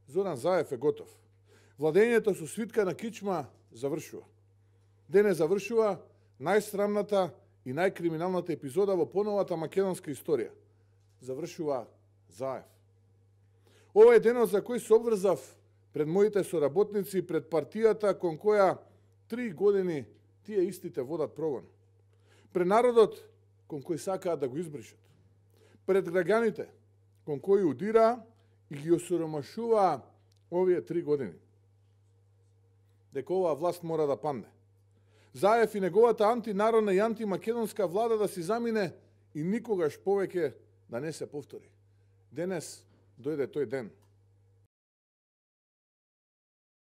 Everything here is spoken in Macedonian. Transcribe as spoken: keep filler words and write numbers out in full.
Зоран Заев е готов. Владењето со свитка на кичма завршува. Денес завршува најсрамната и најкриминалната епизода во поновата македонска историја. Завршува Заев. Ова е денот за кој се обврзав пред моите соработници, пред партијата кон која три години тие истите водат прогон. Пред народот кон кој сакаат да го избришат. Пред граѓаните кон кои удира и ги осиромашува овие три години. Дека оваа власт мора да падне. Заев и неговата антинародна и антимакедонска влада да си замине и никогаш повеќе да не се повтори. Денес дојде тој ден.